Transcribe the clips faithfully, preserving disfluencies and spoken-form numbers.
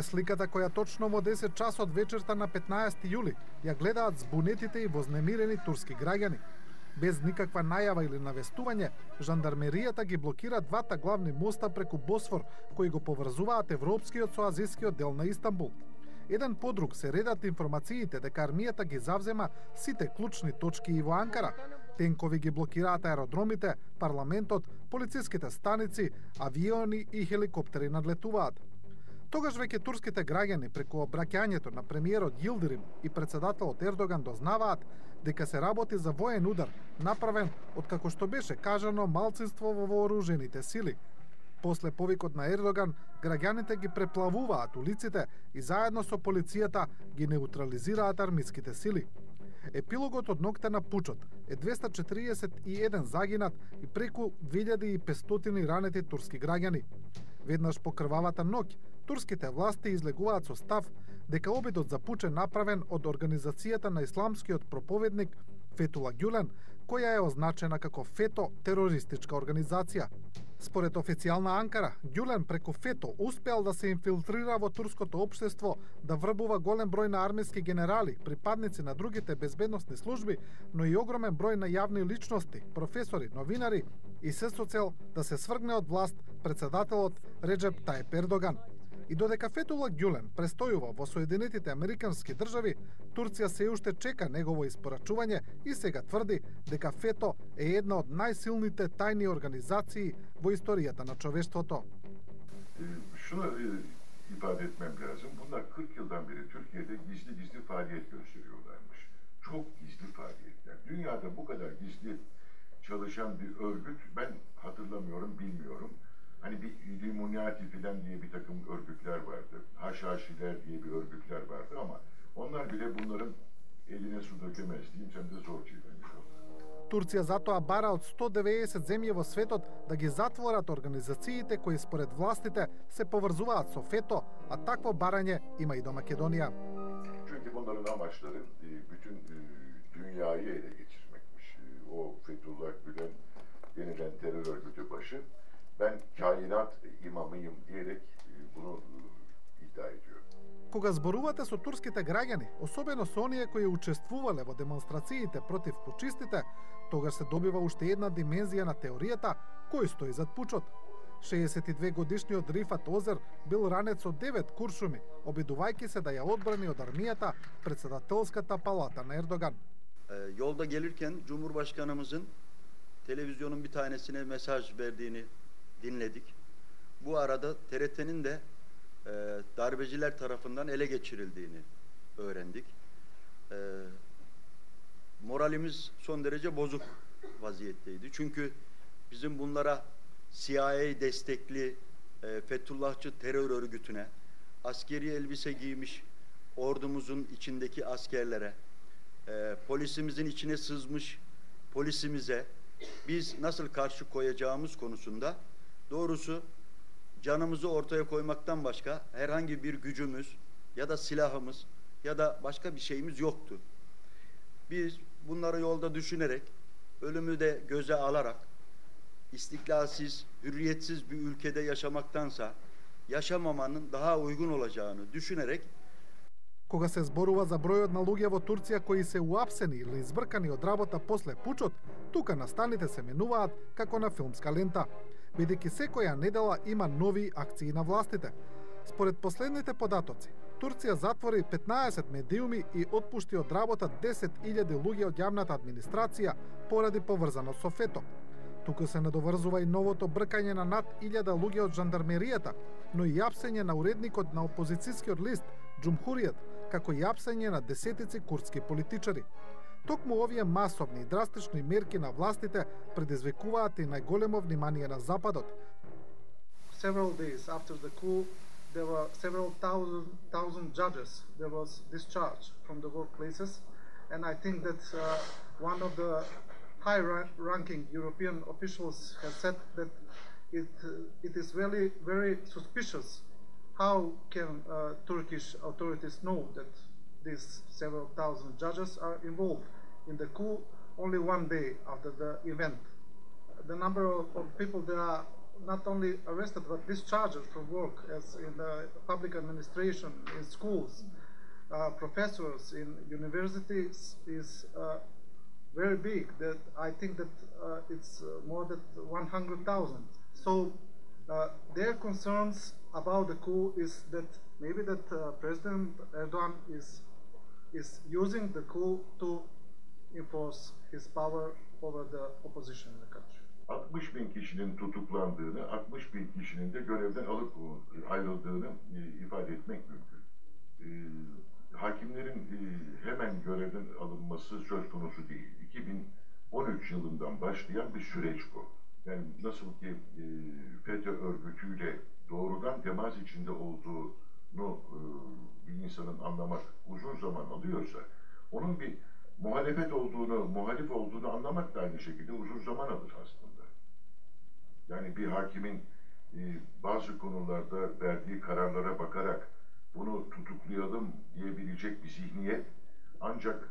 е сликата која точно во десет часот вечерта на петнаесети јули ја гледаат збунетите и вознемирени турски граѓани. Без никаква најава или навестување, жандармеријата ги блокира двата главни моста преку Босфор, кои го поврзуваат европскиот со азискиот дел на Истанбул. Еден по друг се редат информациите дека армијата ги завзема сите клучни точки и во Анкара. Тенкови ги блокираат аеродромите, парламентот, полициските станици, авиони и хеликоптери надлетуваат. Тогаш веќе турските граѓани преку обраќањето на премиерот Йилдирим и председателот Ердоган дознаваат дека се работи за воен удар, направен од, како што беше кажано, малцинство во вооружените сили. После повикот на Ердоган, граѓаните ги преплавуваат улиците и заедно со полицијата ги неутрализираат армиските сили. Епилогот од ноќта на пучот е двеста четириесет и еден загинат и преку две илјади и петстотини ранети турски граѓани. Веднаш по крвавата ноќ, турските власти излегуваат со став дека обидот за пуч е направен од организацијата на исламскиот проповедник Фетула Гюлен, која е означена како ФЕТО терористичка организација. Според официјална Анкара, Гюлен преку ФЕТО успеал да се инфилтрира во турското општество, да врбува голем број на армиски генерали, припадници на другите безбедносни служби, но и огромен број на јавни личности, професори, новинари и се со цел да се свргне од власт председателот Реджеп Тајип Ердоган. И додека Фетула Гюлен престојува во Соединетите Американски држави, Турција се уште чека негово испорачување и сега тврди дека ФЕТО е една од најсилните тајни организации во историјата на човештвото. Şunu ifade etmem lazım. Bunlar kırk yıldan beri Türkiye'de gizli gizli faaliyet gösteriyorlarmış. Çok gizli faaliyetler. Dünyada bu kadar gizli çalışan bir örgüt ben hatırlamıyorum, bilmiyorum. Hani bir Illuminati filan diye bir takım örgütler vardı. Haşhaşiler diye bir örgütler vardı ama onlar bile bunların eline su dökemez diyeyim, sen de zor çevirmiş. Турција затоа бара од сто деветдесет земји во светот да ги затворат организациите кои според властите се поврзуваат со ФЕТО, а такво барање има и до Македонија. Çünkü bunların amaçları bütün dünyayı ele geçirmekmiş. O Fethullah Gülen denilen terör örgütü başı. Ben kainat imamıyım diyerek bunu iddia ediyorum. Кога зборувате со турските граѓани, особено со оние кои учествувале во демонстрациите против пучистите, тогаш се добива уште една димензија на теоријата кој стои зад пучот. шеесет и две годишниот Рифат Озер бил ранет со девет куршуми, обидувајќи се да ја одбрани од армијата председателската палата на Ердоган. Yolda gelirken Cumhurbaşkanımızın televizyonun bir tanesine mesaj verdiğini dinledik. Bu arada T R T'nin de e, darbeciler tarafından ele geçirildiğini öğrendik. E, moralimiz son derece bozuk vaziyetteydi. Çünkü bizim bunlara C I A destekli e, Fethullahçı terör örgütüne, askeri elbise giymiş ordumuzun içindeki askerlere, e, polisimizin içine sızmış polisimize biz nasıl karşı koyacağımız konusunda doğrusu canımızı ortaya koymaktan başka herhangi bir gücümüz ya da silahımız ya da başka bir şeyimiz yoktu. Biz bunları yolda düşünerek, ölümü de göze alarak istiklalsiz, hürriyetsiz bir ülkede yaşamaktansa yaşamamanın daha uygun olacağını düşünerek Кога се зборува за бројот на луѓе во Турција кои се уапсени или избркани од работа после пучот, тука настаните се менуваат како на филмска лента, бидејќи секоја недела има нови акции на властите. Според последните податоци, Турција затвори петнаесет медиуми и отпушти од работа десет илјади луѓе од јавната администрација поради поврзано со ФЕТО. Тука се надоврзува и новото бркање на над илјада луѓе од жандармеријата, но и јапсење на уредникот на опозицијскиот лист Џумхуријат, како и јапсење на десетици курдски политичари. Токму овие масовни и драстични мерки на властите предизвикуваат и најголемо внимание на Западот. Several days after the coup, there were several thousand, thousand judges that was discharged from the workplaces, and I think that uh, one of the high-ranking European officials has said that it uh, it is really very suspicious. How can uh, Turkish authorities know that these several thousand judges are involved in the coup only one day after the event? The number of, of people that are not only arrested but discharged from work, as in the public administration, in schools, uh, professors in universities is uh, very big. That I think that uh, it's uh, more than one hundred thousand. So uh, their concerns about the coup is that maybe that uh, President Erdogan is is using the coup to enforce his power over the opposition in the country. altmış bin kişinin tutuklandığını, altmış bin kişinin de görevden alıp ayrıldığını e, ifade etmek mümkün. E, hakimlerin e, hemen görevden alınması söz konusu değil. iki bin on üç yılından başlayan bir süreç bu. Yani nasıl ki e, FETÖ örgütüyle doğrudan temas içinde olduğunu e, bir insanın anlamak uzun zaman alıyorsa, onun bir muhalefet olduğunu, muhalif olduğunu anlamak da aynı şekilde uzun zaman alır aslında. Yani bir hakimin e, bazı konularda verdiği kararlara bakarak bunu tutuklayalım diyebilecek bir zihniyet ancak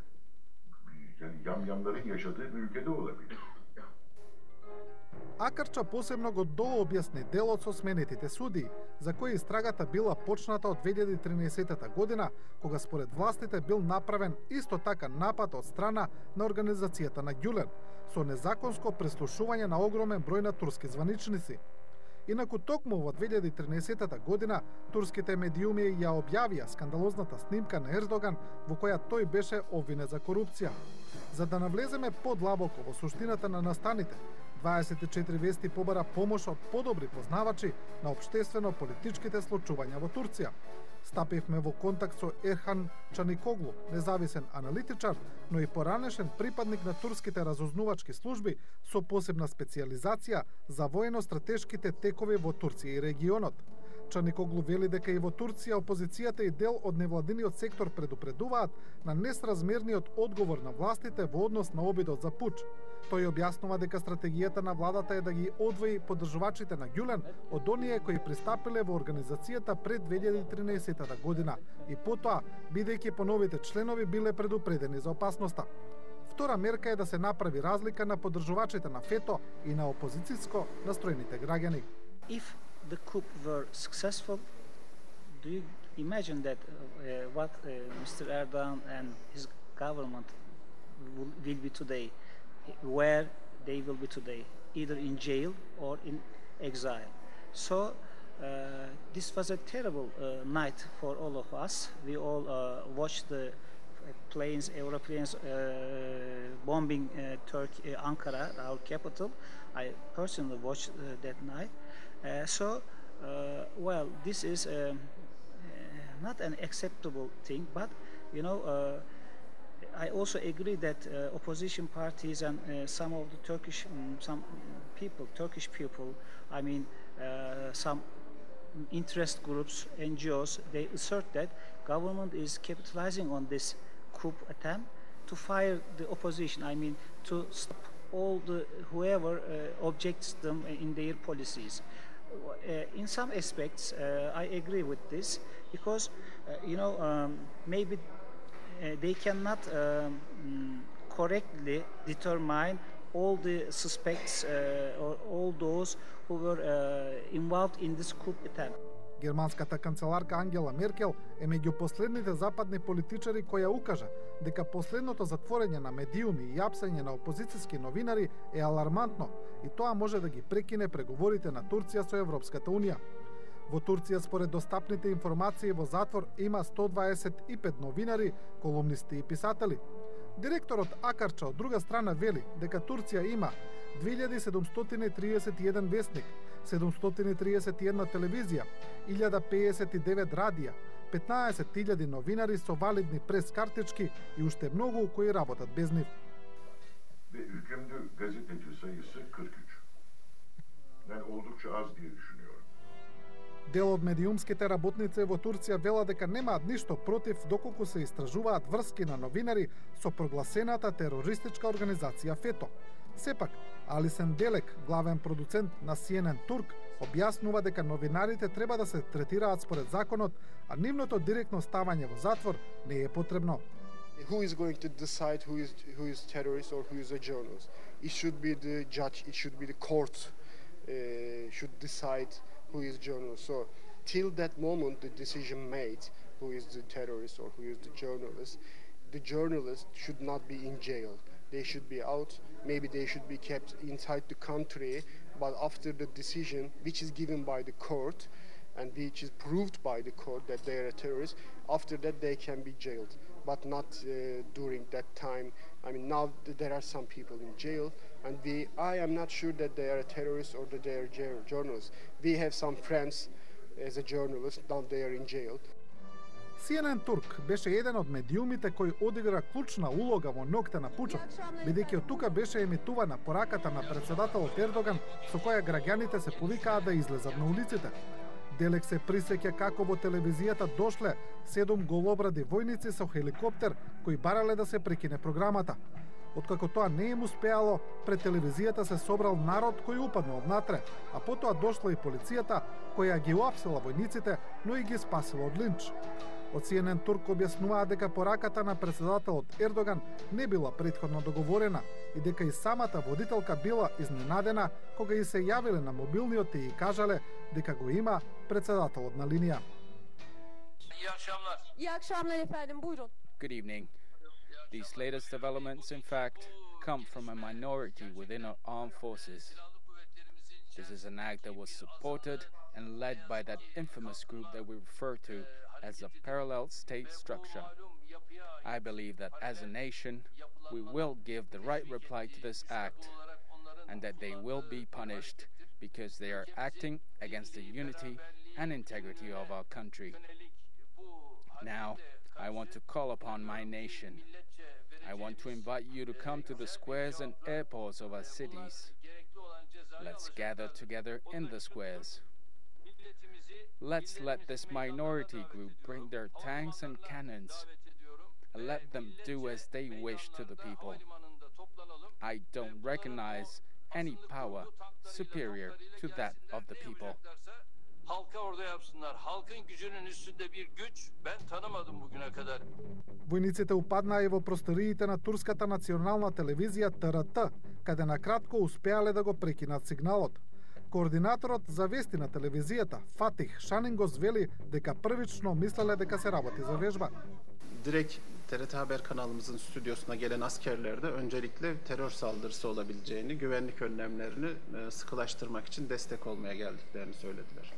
yani yamyamların yaşadığı bir ülkede olabilir. Акарча посебно го дообјасни делот со сменетите судии, за кои истрагата била почната од две илјади и тринаесетта година, кога според властите бил направен исто така напад од страна на организацијата на Гюлен, со незаконско преслушување на огромен број на турски званичници. Инаку токму во две илјади и тринаесетта година турските медиуми ја објавија скандалозната снимка на Ердоган во која тој беше обвинет за корупција. За да навлеземе подлабоко во суштината на настаните, дваесет и четири вести побара помош од подобри познавачи на општествено-политичките случувања во Турција. Стапивме во контакт со Ерхан Чаникоглу, независен аналитичар, но и поранешен припадник на турските разузнувачки служби со посебна специјализација за воено-стратешките текови во Турција и регионот. Чаникоглу вели дека и во Турција опозицијата и дел од невладиниот сектор предупредуваат на несразмерниот одговор на властите во однос на обидот за пуч. Тој објаснува дека стратегијата на владата е да ги одвои поддржувачите на Гюлен од оние кои пристапиле во организацијата пред две илјади и тринаесетта година и потоа, бидејќи по новите членови биле предупредени за опасноста. Втора мерка е да се направи разлика на поддржувачите на ФЕТО и на опозицијско настроените граѓани. If the coup were successful, do you imagine that uh, what uh, Mister Erdogan and his government will, will be today, where they will be today, either in jail or in exile? So uh, this was a terrible uh, night for all of us. We all uh, watched the planes, aeroplanes uh, bombing uh, Turkey, uh, Ankara, our capital. I personally watched uh, that night. Uh, so, uh, well, this is uh, uh, not an acceptable thing, but, you know, uh, I also agree that uh, opposition parties and uh, some of the Turkish, um, some people, Turkish people, I mean, uh, some interest groups, N G Os, they assert that government is capitalizing on this coup attempt to fire the opposition, I mean, to stop all the, whoever uh, objects them in their policies. Uh, in some aspects, uh, I agree with this because, uh, you know, um, maybe uh, they cannot um, correctly determine all the suspects uh, or all those who were uh, involved in this coup attempt. Германската канцеларка Ангела Меркел е меѓу последните западни политичари која укажа дека последното затворење на медиуми и апсење на опозицијски новинари е алармантно и тоа може да ги прекине преговорите на Турција со Европската унија. Во Турција, според достапните информации, во затвор има сто дваесет и пет новинари, колумнисти и писатели. Директорот Акарча од друга страна вели дека Турција има две илјади седумстотини и триесет и еден весник, седумстотини и триесет и една телевизија, илјада пеесет и девет радија, петнаесет илјади новинари со валидни прес картички и уште многу кои работат без нив. Ve hükümlü gazeteci sayısı kırk üç. Yani oldukça az diye düşünüyorum. Дел од медиумските работници во Турција велат дека немаат ништо против доколку се истражуваат врски на новинари со прогласената терористичка организација ФЕТО. Сепак, Алисен Делек, главен продуцент на Си Ен Ен Турк, објаснува дека новинарите треба да се третираат според законот, а нивното директно ставање во затвор не е потребно. Who is going to decide who is who is terrorist or who is a journalist? It should be the judge, it should be the court. uh, should decide who is journalist. So till that moment, the decision made who is the terrorist or who is the journalist, the journalist should not be in jail. They should be out. Maybe they should be kept inside the country. But after the decision, which is given by the court, and which is proved by the court that they are a terrorist, after that they can be jailed, but not uh, during that time. I mean, now th there are some people in jail, and we, I am not sure that they are a terrorist or that they are journalists. We have some friends as a journalist, now they are in jail. Си Ен Ен Турк беше еден од медиумите кој одигра клучна улога во ноќта на пучот, бидејќи од тука беше емитувана пораката на председателот Ердоган со која граѓаните се повикаа да излезат на улиците. Делек се присеќа како во телевизијата дошле седум голобради војници со хеликоптер кои барале да се прекине програмата. Откако тоа не им успеало, пред телевизијата се собрал народ кој упаднал внатре, а потоа дошла и полицијата која ги уапсила војниците, но и ги спасила од линч. Од Си Ен Ен Турк објаснуваа дека пораката на председателот Ердоган не била претходно договорена и дека и самата водителка била изненадена кога и се јавиле на мобилниот и кажале дека го има председателот на линија. İyi akşamlar. İyi akşamlar efendim, buyurun. Good evening. These latest developments, in fact, come from a minority within our armed forces. This is an act that was supported and led by that infamous group that we refer to as a parallel state structure. I believe that as a nation, we will give the right reply to this act and that they will be punished because they are acting against the unity and integrity of our country. Now, I want to call upon my nation. I want to invite you to come to the squares and airports of our cities. Let's gather together in the squares. Let's let this minority group bring their tanks and cannons and let them do as they wish to the people. I don't recognize any power superior to that of the people. Halka orada yapsınlar. Halkın gücünün üstünde bir güç ben tanımadım bugüne kadar. Војниците упаднаа и во просториите на турската национална телевизија Т Р Т, каде на кратко успеале да го прекинат сигналот. Координаторот за вести на телевизијата Фатих Шанингос вели дека првично мислеле дека се работи за вежба. Direkt T R T Haber kanalımızın stüdyosuna gelen askerler de öncelikle terör saldırısı olabileceğini, güvenlik önlemlerini sıkılaştırmak için destek olmaya geldiklerini söylediler.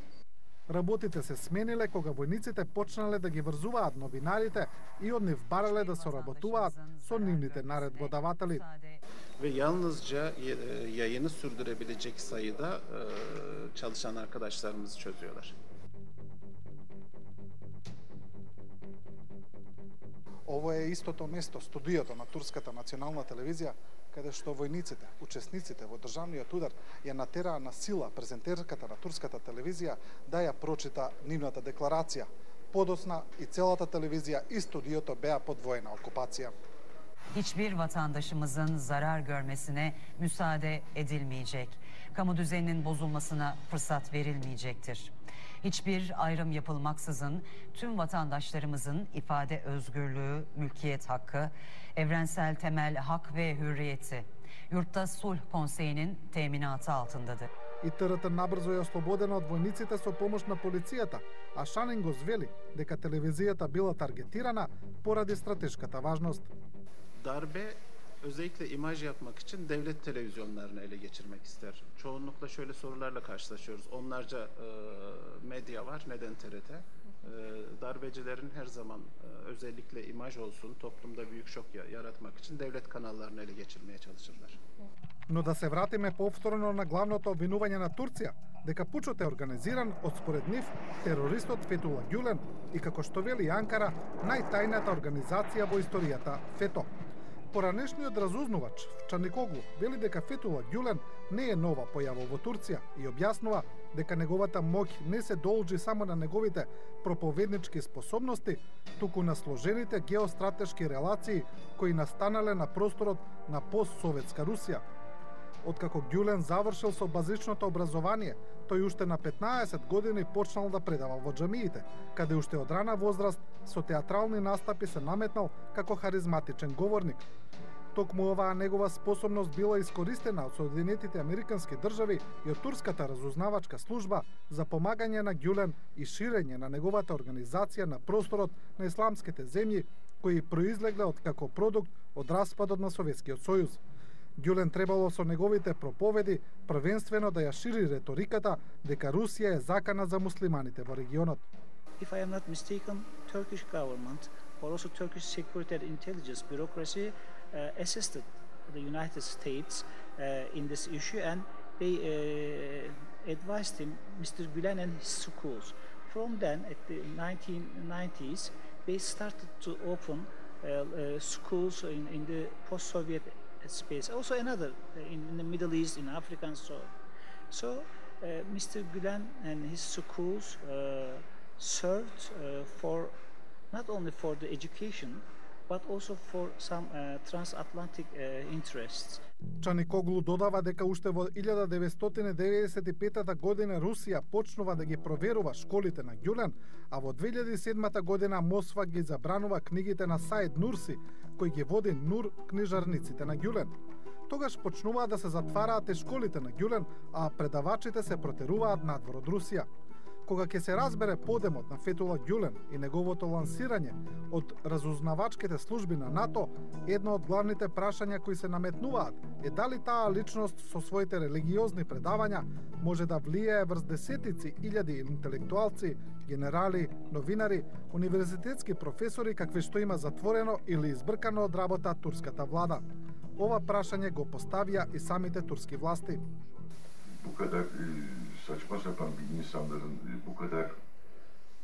Работите се смениле кога војниците почнале да ги врзуваат новинарите и од нив барале да соработуваат со нивните наредбодаватели. Ve yalnızca yayını sürdürebilecek sayıda çalışan arkadaşlarımızı çözüyorlar. Ово е истото место, студиото на Турската национална телевизија, каде што војниците, учесниците во државниот удар ја натераа на сила презентерката на Турската телевизија да ја прочита нивната декларација. Подоцна и целата телевизија и студиото беа под војна окупација. Hiçbir vatandaşımızın zarar görmesine müsaade edilmeyecek. Kamu düzeninin bozulmasına fırsat verilmeyecektir. Hiçbir ayrım yapılmaksızın tüm vatandaşlarımızın ifade özgürlüğü, mülkiyet hakkı, evrensel temel hak ve hürriyeti Yurtta Sulh Konseyi'nin teminatı altındadır. И Т Р Т набрзо е ослободена од војниците со помош на полицијата, а Шанингос вели дека телевизијата била таргетирана поради стратешката важност. Darbe özellikle imaj yapmak için devlet televizyonlarını ele geçirmek ister. Çoğunlukla şöyle sorularla karşılaşıyoruz. Onlarca e, medya var, neden T R T? E, darbecilerin her zaman e, özellikle imaj olsun, toplumda büyük şok yaratmak için devlet kanallarını ele geçirmeye çalışırlar. Но да се вратиме повторно на главното обвинување на Турција, дека пучот е организиран од според нив терористот Фетула Гюлен и како што вели Анкара, најтајната организација во историјата ФЕТО. Поранешниот разузнувач Чаникоглу вели дека Фетула Гюлен не е нова појава во Турција и објаснува дека неговата моќ не се должи само на неговите проповеднички способности, туку на сложените геостратешки релации кои настанале на просторот на постсоветска Русија. Откако Гюлен завршил со базичното образование, тој уште на петнаесет години почнал да предава во џамиите, каде уште од рана возраст со театрални настапи се наметнал како харизматичен говорник. Токму оваа негова способност била искористена од Соединетите Американски држави и од турската разузнавачка служба за помагање на Гюлен и ширење на неговата организација на просторот на исламските земји кои произлегле од како продукт од распадот на Советскиот сојуз. Гюлен требало со неговите проповеди првенствено да ја шири реториката дека Русија е закана за муслиманите во регионот. If I am not mistaken, Turkish government or also Turkish security and intelligence bureaucracy uh, assisted the United States uh, in this issue, and they uh, advised him, Mister Gülen and his schools. From then, at the nineteen nineties, they started to open uh, uh, schools in, in the post-Soviet space, also another uh, in, in the Middle East, in Africa and so on. So uh, Mister Gülen and his schools uh, served uh, for not only for the education, but also for some uh, transatlantic uh, interests. Чаникоглу додава дека уште во илјада деветстотини деветдесет и петата година Русија почнува да ги проверува школите на Гюлен, а во две илјади и седмата година Москва ги забранува книгите на Саид Нурси, кој ги води Нур книжарниците на Гюлен. Тогаш почнуваат да се затвараат и школите на Гюлен, а предавачите се протеруваат надвор од Русија. Кога ќе се разбере подемот на Фетула Гюлен и неговото лансирање од разузнавачките служби на НАТО, едно од главните прашања кои се наметнуваат е дали таа личност со своите религиозни предавања може да влијае врз десетици илјади интелектуалци, генерали, новинари, универзитетски професори какви што има затворено или избркано од работа турската влада. Ова прашање го поставија и самите турски власти. Bu kadar e, saçma sapan bir insanların e, bu kadar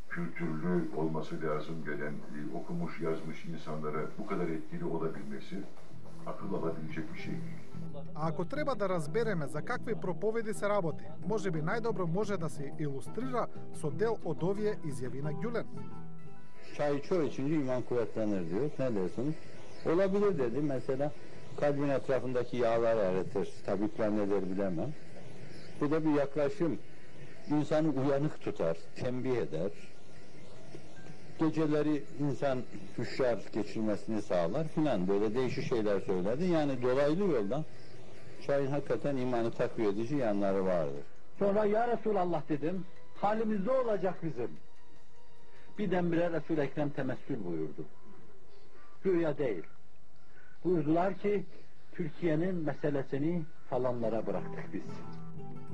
kültürlü olması lazım gelen e, okumuş yazmış insanlara bu kadar etkili olabilmesi akıl alabilecek bir şey değil. А ако треба да разбереме за какви проповеди се работи, можеби најдобро може да се илустрира со дел од овие изјави на Гюлен. Çay çoğu içince iman kuvvetlenir diyor. Ne dersiniz? Olabilir dedi. Mesela kalbin etrafındaki yağlar eritir. Tabipler ne der bilemem. Bu da bir yaklaşım. İnsanı uyanık tutar, tembih eder. Geceleri insan hüşyar geçirmesini sağlar filan, böyle değişik şeyler söyledi. Yani dolaylı yoldan çayın hakikaten imanı takviye edici yanları vardır. Sonra ya Resulallah dedim, halimiz ne olacak bizim? Birdenbire Resul-i Ekrem temessül buyurdu. Rüya değil. Buyurdular ki Türkiye'nin meselesini falanlara bıraktık biz.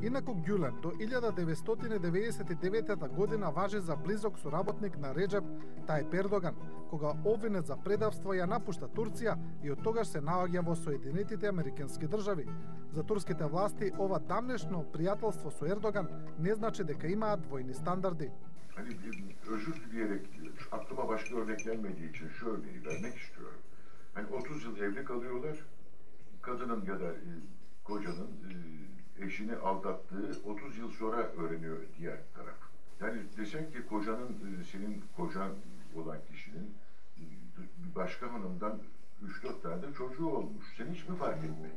Инаку Гюлен до илјада деветстотини деветдесет и деветата година важи за близок соработник на Реджеп Тајип Ердоган, кога обвинет за предавство ја напушта Турција и од тогаш се наоѓа во Соединетите Американски држави. За турските власти ова дамнешно пријателство со Ердоган не значи дека имаат двојни стандарди. Hani özür dileyerek aklıma başka örnek gelmediği için şu örneği vermek istiyorum. Hani otuz yıl evli kalıyorlar, kadının ya da e, kocanın e, eşini aldattığı otuz yıl sonra öğreniyor diğer taraf. Yani desen ki kocanın, senin kocan olan kişinin bir başka hanımdan üç dört tane de çocuğu olmuş. Sen hiç mi fark etmedin?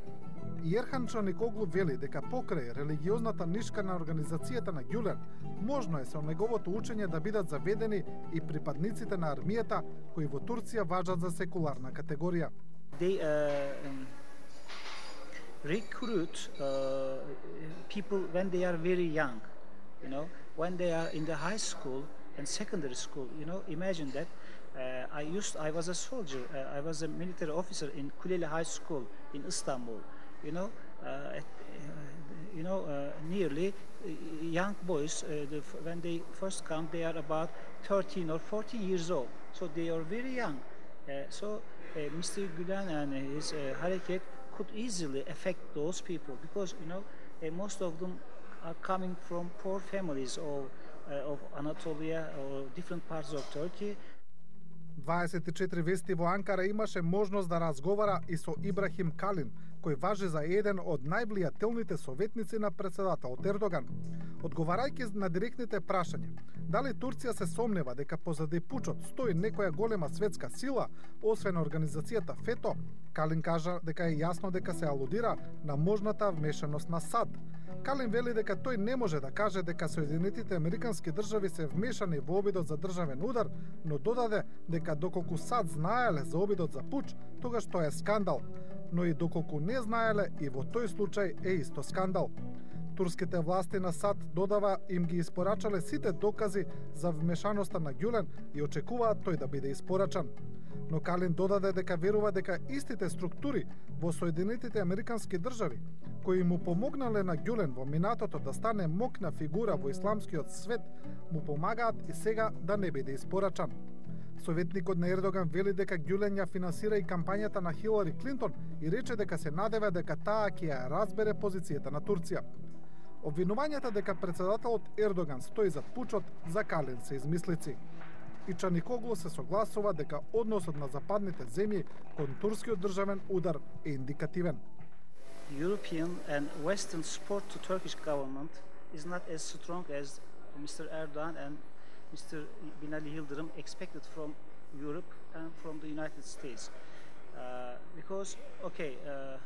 Јерхан Чаникоглу вели дека покрај религиозната нишка на организацијата на Гюлен, можно е со неговото учење да бидат заведени и припадниците на армијата кои во Турција важат за секуларна категорија. They uh, recruit uh, people when they are very young, you know, when they are in the high school and secondary school. You know, imagine that. Uh, I used, I was a soldier. Uh, I was a military officer in Kuleli High School in Istanbul. You know, uh, at, uh, you know, uh, nearly uh, young boys uh, the, when they first come, they are about thirteen or fourteen years old. So they are very young. Uh, so uh, Mister Gülen and his uh, hareket could easily affect those people because you know uh, most of them are coming from poor families or uh, of Anatolia or different parts of Turkey. дваесет и четири вести во Анкара имаше можност да разговара и со Ибрахим Калин, кој важи за еден од највлијателните советници на председателот Ердоган. Одговарајќи на директните прашања, дали Турција се сомнева дека позади пучот стои некоја голема светска сила, освен организацијата ФЕТО, Калин кажа дека е јасно дека се алудира на можната вмешаност на САД. Калин вели дека тој не може да каже дека Соединетите Американски држави се вмешани во обидот за државен удар, но додаде дека доколку САД знаеле за обидот за пуч, тогаш тоа е скандал. но и доколку не знаеле, и во тој случај е исто скандал. Турските власти на САД додава им ги испорачале сите докази за вмешаноста на Гюлен и очекуваат тој да биде испорачан. Но Калин додаде дека верува дека истите структури во Соединетите Американски држави, кои му помогнале на Гюлен во минатото да стане мокна фигура во исламскиот свет, му помагаат и сега да не биде испорачан. Советникот на Ердоган вели дека Гюлен ја финансира и кампањата на Хилари Клинтон и рече дека се надева дека таа ќе ја разбере позицијата на Турција. Обвинувањата дека председателот Ердоган стои зад пучот за Калин се измислици. И Чаникоглу се согласува дека односот на западните земји кон турскиот државен удар е индикативен. European and Western support to Turkish government is not as strong as Mister Erdogan and Mister Binali Yıldırım expected from Europe and from the United States. Uh, because, okay, uh, uh,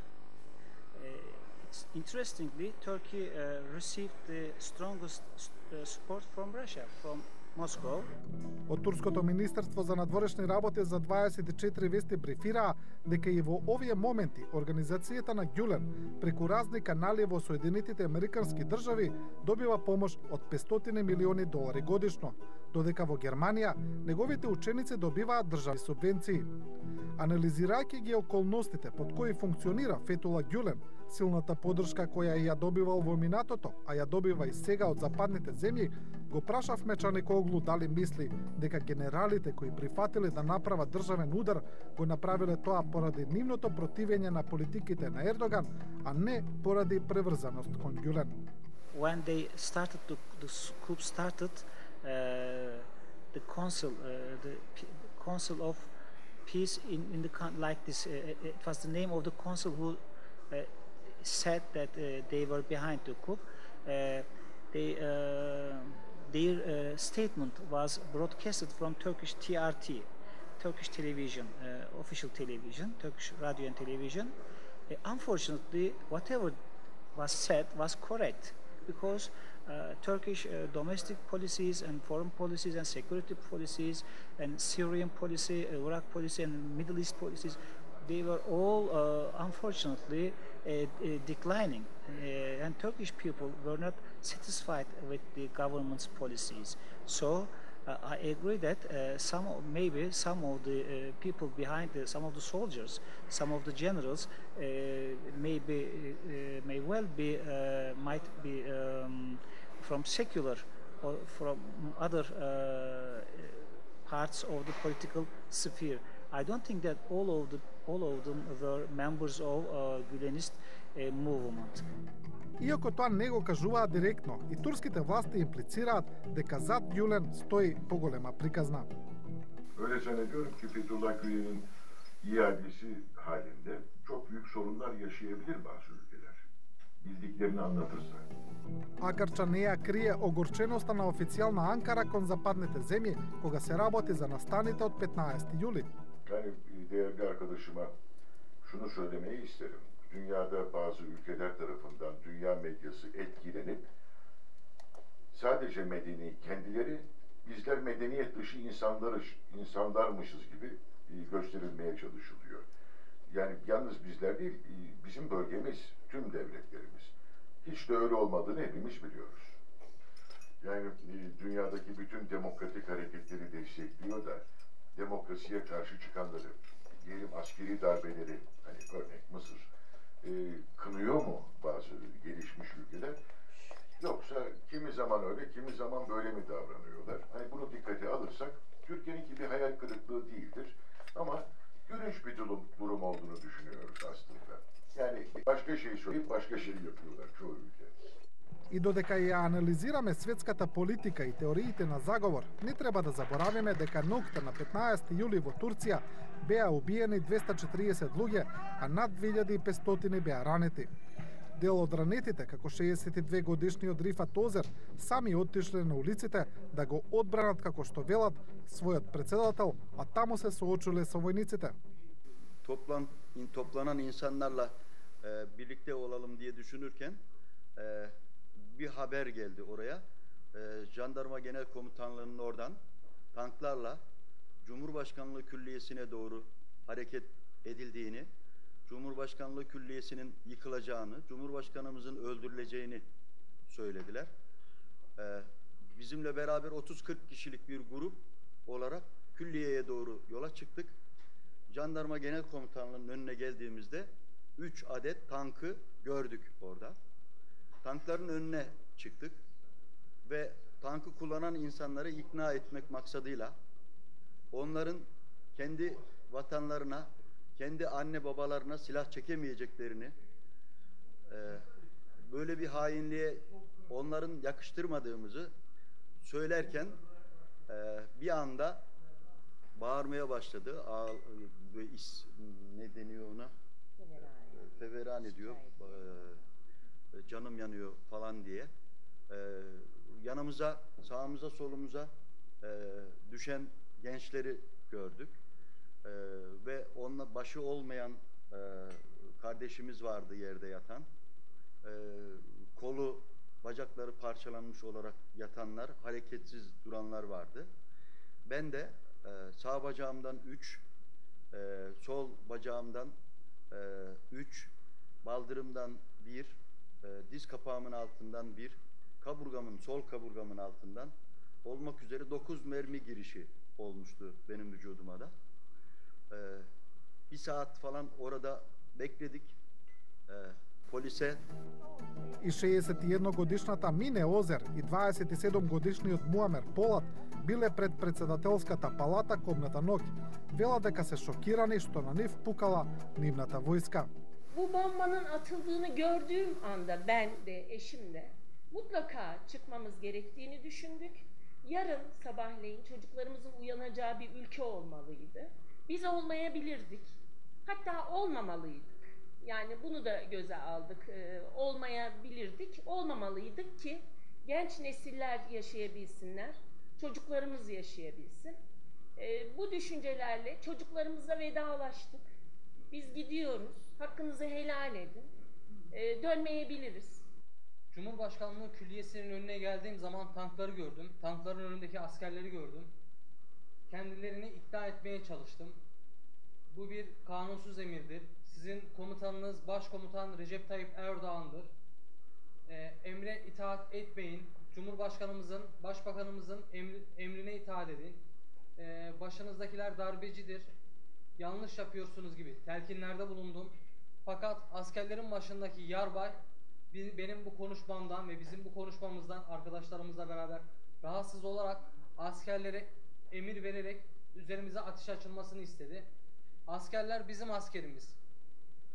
it's interestingly, Turkey uh, received the strongest uh, support from Russia, from Moscow. Од Турското министерство за надворешни работи за дваесет и четири вести брифираа дека и во овие моменти организацијата на Гюлен преку разни канали во Соединетите Американски држави добива помош од петстотини милиони долари годишно, додека во Германија неговите ученици добиваат државни субвенции. Анализирајќи ги околностите под кои функционира Фетула Гюлен, силната поддршка која ја добивал во минатото, а ја добива и сега од западните земји, го прашавме Чаникоглу дали мисли дека генералите кои прифатиле да направат државен удар го направиле тоа поради нивното противење на политиките на Ердоган, а не поради преврзаност кон Гюлен. When they started to, the coup started, uh, the council, uh, the council of peace in, in the like this, uh, it was the name of the council who uh, said that uh, they were behind the coup. Uh, they, uh, their uh, statement was broadcasted from Turkish T R T, Turkish television, uh, official television, Turkish radio and television. Uh, unfortunately, whatever was said was correct because uh, Turkish uh, domestic policies and foreign policies and security policies and Syrian policy, Iraq policy and Middle East policies, they were all uh, unfortunately uh, uh, declining uh, and Turkish people were not satisfied with the government's policies. So uh, I agree that uh, some maybe some of the uh, people behind the, some of the soldiers, some of the generals uh, maybe uh, may well be uh, might be um, from secular or from other uh, parts of the political sphere. I don't think that all of the all of them were members of uh, Gülenist uh, movement. Иако тоа не го кажуваат директно, и турските власти имплицираат дека зад Гюлен стои поголема приказна. Öyle zannediyorum ki Fethullah Gülen'in iadesi halinde çok büyük sorunlar yaşayabilir bazı ülkeler. Bildiklerini anlatırsa. Акарча не ја крие огорченоста на официјална Анкара кон западните земји кога се работи за настаните од петнаесети јули. Yani değerli arkadaşıma şunu söylemeyi isterim. Dünyada bazı ülkeler tarafından dünya medyası etkilenip sadece medeni kendileri bizler medeniyet dışı insanlarız, insanlarmışız gibi gösterilmeye çalışılıyor. Yani yalnız bizler değil, bizim bölgemiz, tüm devletlerimiz. Hiç de öyle olmadığını hepimiz biliyoruz. Yani dünyadaki bütün demokratik hareketleri destekliyor da demokrasiye karşı çıkanları, diyelim askeri darbeleri, hani örnek Mısır, e, kınıyor mu bazı gelişmiş ülkeler? Yoksa kimi zaman öyle, kimi zaman böyle mi davranıyorlar? Hani bunu dikkate alırsak, Türkiye'ninki bir hayal kırıklığı değildir. Ama gülünç bir durum, durum olduğunu düşünüyoruz aslında. Yani başka şey söyleyip başka şey yapıyorlar çoğu ülke. И додека ја анализираме светската политика и теориите на заговор, не треба да заборавиме дека ноќта на петнаесети јули во Турција беа убиени двеста четириесет луѓе, а над две илјади и петстотини беа ранети. Дел од ранетите, како шеесет и две годишниот Рифат Озер, сами оттишле на улиците да го одбранат, како што велат, својот председател, а таму се соочуле со војниците. Toplan, toplanan insanlarla e, birlikte olalım diye düşünürken e, bir haber geldi oraya. E, Jandarma Genel Komutanlığı'nın oradan tanklarla Cumhurbaşkanlığı Külliyesi'ne doğru hareket edildiğini, Cumhurbaşkanlığı Külliyesi'nin yıkılacağını, Cumhurbaşkanımızın öldürüleceğini söylediler. Ee, bizimle beraber otuz kırk kişilik bir grup olarak külliyeye doğru yola çıktık. Jandarma Genel Komutanlığı'nın önüne geldiğimizde üç adet tankı gördük orada. Tankların önüne çıktık ve tankı kullanan insanları ikna etmek maksadıyla onların kendi vatanlarına, kendi anne babalarına silah çekemeyeceklerini, e, böyle bir hainliğe onların yakıştırmadığımızı söylerken e, bir anda bağırmaya başladı. Ağ, ve is, ne deniyor ona? Feveran ediyor. E, canım yanıyor falan diye. E, yanımıza, sağımıza, solumuza e, düşen gençleri gördük. Ee, ve onunla başı olmayan e, kardeşimiz vardı yerde yatan. Ee, kolu, bacakları parçalanmış olarak yatanlar, hareketsiz duranlar vardı. Ben de e, sağ bacağımdan üç, e, sol bacağımdan e, üç, baldırımdan bir, e, diz kapağımın altından bir, kaburgamın, sol kaburgamın altından olmak üzere dokuz mermi girişi olmuştu benim vücuduma da. Ee, bir saat falan orada bekledik. Ee, polise И шеесет и едно годишната Мине Озер и дваесет и седум годишниот Муамер Полат биле пред председателската палата кобната ноќ. Вела дека се шокирани што на нив пукала нивната војска. Bu bombanın atıldığını gördüğüm anda ben de eşim de mutlaka çıkmamız gerektiğini düşündük. Yarın sabahleyin çocuklarımızın uyanacağı bir ülke olmalıydı. Biz olmayabilirdik. Hatta olmamalıydık. Yani bunu da göze aldık. Ee, olmayabilirdik, olmamalıydık ki genç nesiller yaşayabilsinler, çocuklarımız yaşayabilsin. Ee, bu düşüncelerle çocuklarımızla vedalaştık. Biz gidiyoruz, hakkınızı helal edin. Ee, dönmeyebiliriz. Cumhurbaşkanlığı Külliyesi'nin önüne geldiğim zaman tankları gördüm. Tankların önündeki askerleri gördüm. Kendilerini ikna etmeye çalıştım. Bu bir kanunsuz emirdir. Sizin komutanınız Başkomutan Recep Tayyip Erdoğan'dır. Ee, emre itaat etmeyin. Cumhurbaşkanımızın, Başbakanımızın emri, emrine itaat edin. Ee, başınızdakiler darbecidir. Yanlış yapıyorsunuz gibi telkinlerde bulundum. Fakat askerlerin başındaki yarbay benim bu konuşmamdan ve bizim bu konuşmamızdan arkadaşlarımızla beraber rahatsız olarak askerlere emir vererek üzerimize ateş açılmasını istedi. Askerler bizim askerimiz.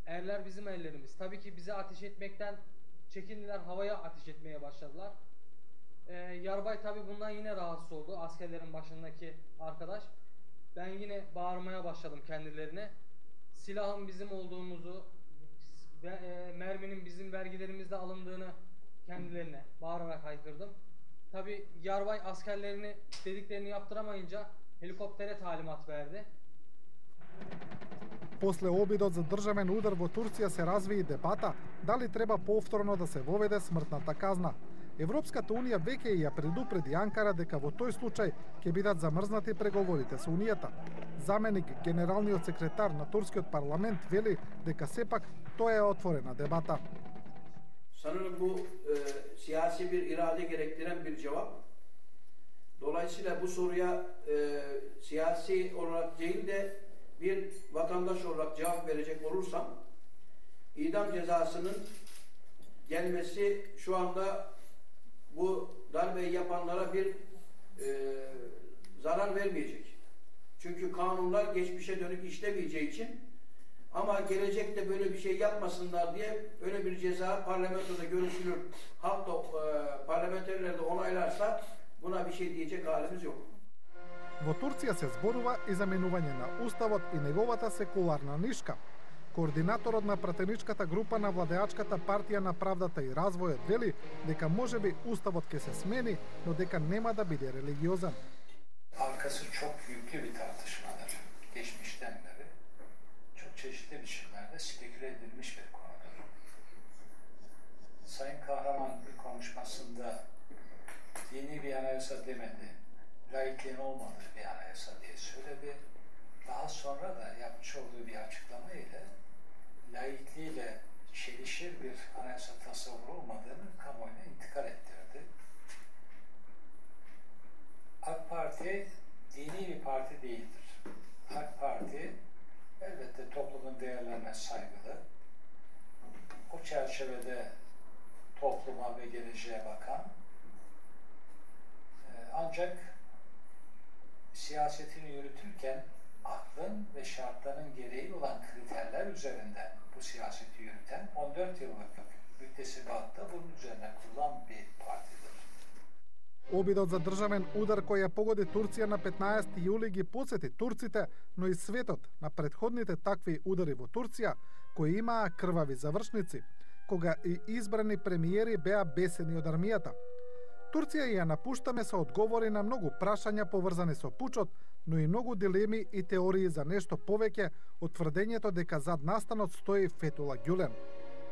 Erler bizim ellerimiz. Tabii ki bize ateş etmekten çekindiler, havaya ateş etmeye başladılar. Ee, yarbay tabii bundan yine rahatsız oldu, askerlerin başındaki arkadaş. Ben yine bağırmaya başladım kendilerine. Silahın bizim olduğumuzu ve e, merminin bizim vergilerimizde alındığını kendilerine bağırarak haykırdım. Tabii yarbay askerlerini dediklerini yaptıramayınca helikoptere talimat verdi. После обидот за државен удар во Турција се разви и дебата дали треба повторно да се воведе смртната казна. Европската Унија веќе ја предупреди Анкара дека во тој случај ќе бидат замрзнати преговорите со Унијата. Заменик генералниот секретар на турскиот парламент вели дека сепак тоа е отворена дебата. Sanırım bu e, siyasi bir irade gerektiren bir cevap. Dolayısıyla bu soruya e, siyasi olarak değil de bir vatandaş olarak cevap verecek olursam, idam cezasının gelmesi şu anda bu darbeyi yapanlara bir e, zarar vermeyecek. Çünkü kanunlar geçmişe dönük işlemeyeceği için, ama gelecekte böyle bir şey yapmasınlar diye öyle bir ceza parlamentoda görüşülür, halk da e, parlamenterler de onaylarsa buna bir şey diyecek halimiz yok. Во Турција се зборува и за менување на уставот и неговата секуларна нишка. Координаторот на пратеничката група на владеачката партија на правдата и развојот вели дека можеби уставот ќе се смени, но дека нема да биде религиозен. Arkası çok yüklü bir tartışmadır. Geçmişten beri çok çeşitli biçimlerde speküle edilmiş bir konudur. Sayın Kahraman bir konuşmasında dini bir anayasa demedi, laikliğin olmadığı bir anayasa diye söyledi. Daha sonra da yapmış olduğu bir açıklama ile laikliğiyle çelişir bir anayasa tasavvuru olmadığını kamuoyuna intikal ettirdi. AK Parti dini bir parti değildir. AK Parti elbette toplumun değerlerine saygılı. O çerçevede topluma ve geleceğe bakan, ancak siyasetini yürütürken aklın ve şartların gereği olan kriterler üzerinden bu siyaseti yürüten on dört yıllık müktesibatta bunun üzerine kurulan bir partidir. Обидот за државен удар кој ја погоди Турција на петнаесети јули ги потсети турците, но и светот на претходните такви удари во Турција, кои имаа крвави завршници, кога и избрани премиери беа бесени од армијата. Турција ја напуштаме со одговори на многу прашања поврзани со пучот, но и многу дилеми и теории за нешто повеќе од тврдењето дека зад настанот стои Фетула Гюлен.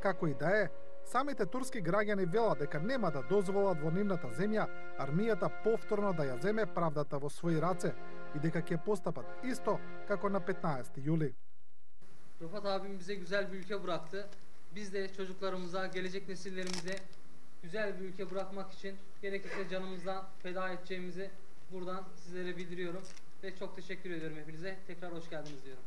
Како и да е, самите турски граѓани велат дека нема да дозволат во нивната земја армијата повторно да ја земе правдата во своји раце и дека ќе постапат исто како на петнаесети јули. Rıfat abim bize güzel bir ülke bıraktı. Biz de çocuklarımıza, gelecek nesillerimize güzel bir ülke bırakmak için gerekirse canımızdan feda edeceğimizi buradan sizlere bildiriyorum. Ve çok teşekkür ediyorum hepinize. Tekrar hoş geldiniz diyorum.